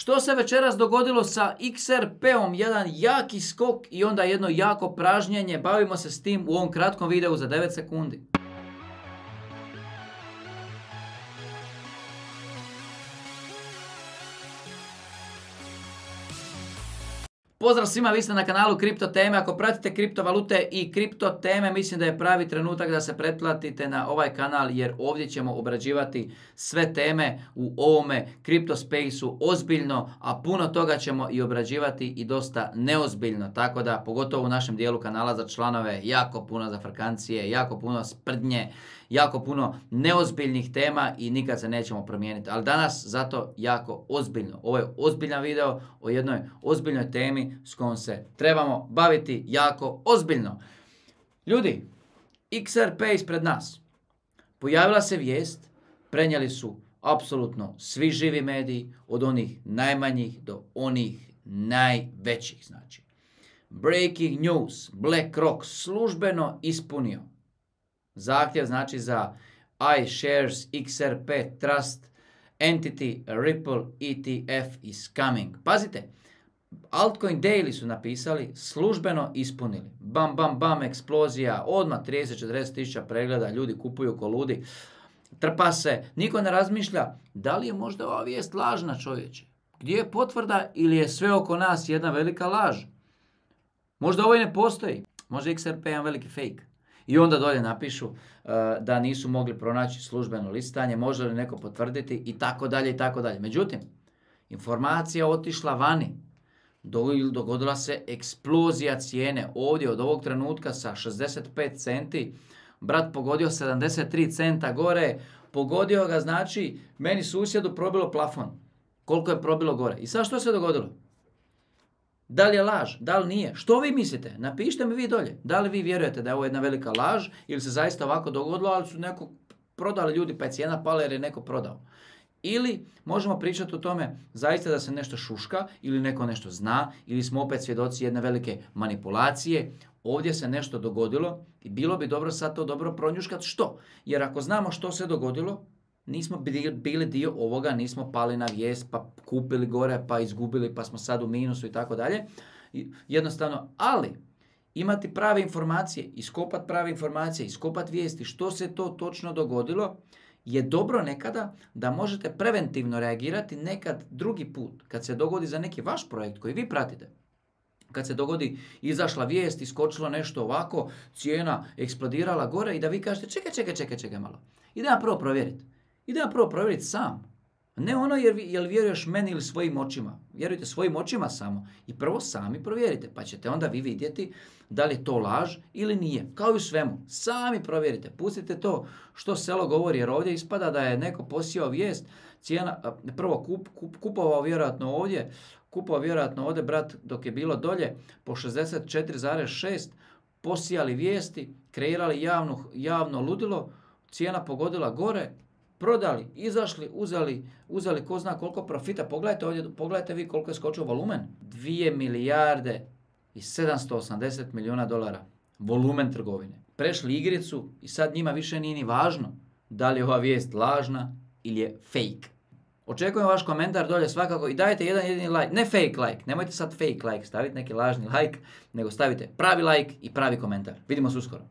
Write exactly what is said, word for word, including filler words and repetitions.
Što se večeras dogodilo sa X R P-om? Jedan jaki skok i onda jedno jako pražnjenje. Bavimo se s tim u ovom kratkom videu za devet sekundi. Pozdrav svima, vi ste na kanalu Kripto teme. Ako pratite kriptovalute i kripto teme, mislim da je pravi trenutak da se pretplatite na ovaj kanal, jer ovdje ćemo obrađivati sve teme u ovome kripto spaceu ozbiljno, a puno toga ćemo i obrađivati i dosta neozbiljno. Tako da, pogotovo u našem dijelu kanala za članove, jako puno zafrkancije, jako puno sprdnje, jako puno neozbiljnih tema i nikad se nećemo promijeniti. Ali danas zato jako ozbiljno. Ovo je ozbiljan video o jednoj ozbiljnoj temi s kojom se trebamo baviti jako ozbiljno. Ljudi, X R P ispred nas. Pojavila se vijest, prenijeli su apsolutno svi živi mediji, od onih najmanjih do onih najvećih. Znači, breaking news, BlackRock službeno ispunio zahtjev, znači za iShares X R P Trust Entity Ripple E T F is coming. Pazite, Altcoin Daily su napisali, službeno ispunili. Bam, bam, bam, eksplozija, odmah trideset do četrdeset tisuća pregleda, ljudi kupuju ko ludi. Trpa se, niko ne razmišlja da li je možda ova vijest lažna, čovječe. Gdje je potvrda ili je sve oko nas jedna velika laž? Možda ovo i ne postoji. Možda X R P je jedan veliki fake. I onda dolje napišu uh, da nisu mogli pronaći službeno listanje, može li neko potvrditi i tako dalje i tako dalje. Međutim, informacija otišla vani. Dogodila se eksplozija cijene ovdje od ovog trenutka sa šezdeset pet centi. Brat pogodio sedamdeset tri centa gore. Pogodio ga, znači, meni susjedu probilo plafon. Koliko je probilo gore. I sad što se dogodilo? Da li je laž? Da li nije? Što vi mislite? Napišite mi vi dolje. Da li vi vjerujete da je ovo jedna velika laž ili se zaista ovako dogodilo, ali su neko prodali ljudi pa je cijena pala jer je neko prodao. Ili možemo pričati o tome zaista da se nešto šuška ili neko nešto zna ili smo opet svjedoci jedne velike manipulacije. Ovdje se nešto dogodilo i bilo bi dobro sad to dobro pronjuškati što. Jer ako znamo što se dogodilo, nismo bili dio ovoga, nismo pali na vijest, pa kupili gore, pa izgubili, pa smo sad u minusu i tako dalje. Jednostavno, ali imati prave informacije, iskopati prave informacije, iskopati vijesti što se to točno dogodilo, je dobro nekada da možete preventivno reagirati nekad drugi put, kad se dogodi za neki vaš projekt koji vi pratite. Kad se dogodi, izašla vijest, iskočilo nešto ovako, cijena eksplodirala gore i da vi kažete čekaj, čekaj, čekaj, čekaj malo. Idem ja prvo provjeriti. Idem ja prvo provjeriti sam. Ne ono jer, jer vjeruješ meni ili svojim očima. Vjerujte svojim očima samo. I prvo sami provjerite. Pa ćete onda vi vidjeti da li je to laž ili nije. Kao i u svemu. Sami provjerite. Pustite to što selo govori. Jer ovdje ispada da je neko posijao vijest. Cijena, prvo kup, kup, kupovao vjerojatno ovdje. Kupovao vjerojatno ovdje, brat, dok je bilo dolje po šezdeset četiri zarez šest. Posijali vijesti. Kreirali javno, javno ludilo. Cijena pogodila gore. Prodali, izašli, uzeli, uzeli ko zna koliko profita. Pogledajte ovdje, pogledajte vi koliko je skočio volumen. dvije milijarde i sedamsto osamdeset milijuna dolara. Volumen trgovine. Prešli igricu i sad njima više nije ni važno da li je ova vijest lažna ili je fake. Očekujem vaš komentar dolje svakako i dajte jedan jedini like. Ne fake like, nemojte sad fake like staviti neki lažni like, nego stavite pravi like i pravi komentar. Vidimo se uskoro.